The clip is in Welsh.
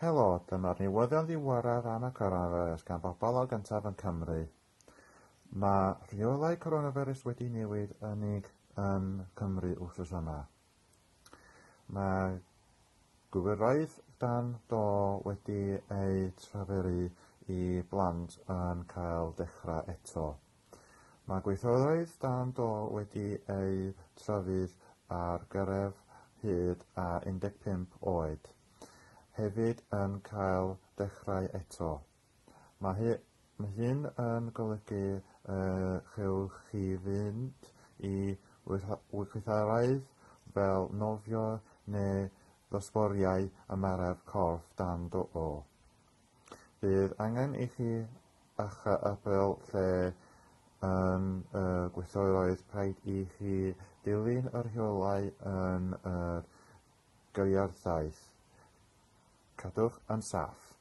Helo, dyma'r newyddion ddiweddaraf am y coronavirus gan bobl o gyntaf yn Cymru. Mae rheolau coronavirus wedi newid unig yn Cymru wythnos yma. Mae gwyroedd dan do wedi eu traferu i blant yn cael dechrau eto. Mae gweithredoedd dan do wedi eu trafydd ar gyrraedd hyd a 15 oed hefyd yn cael dechrau eto. Mae, hy mae hyn yn golygu y chewch chi fynd i weithgareddau fel nofio neu ddosboriau ymarfer corff dan do. Bydd angen i chi archebu lle yn y gweithredoedd rhaid i chi dilyn y rheolau yn yr gyrraedd. Cadwch yn saff.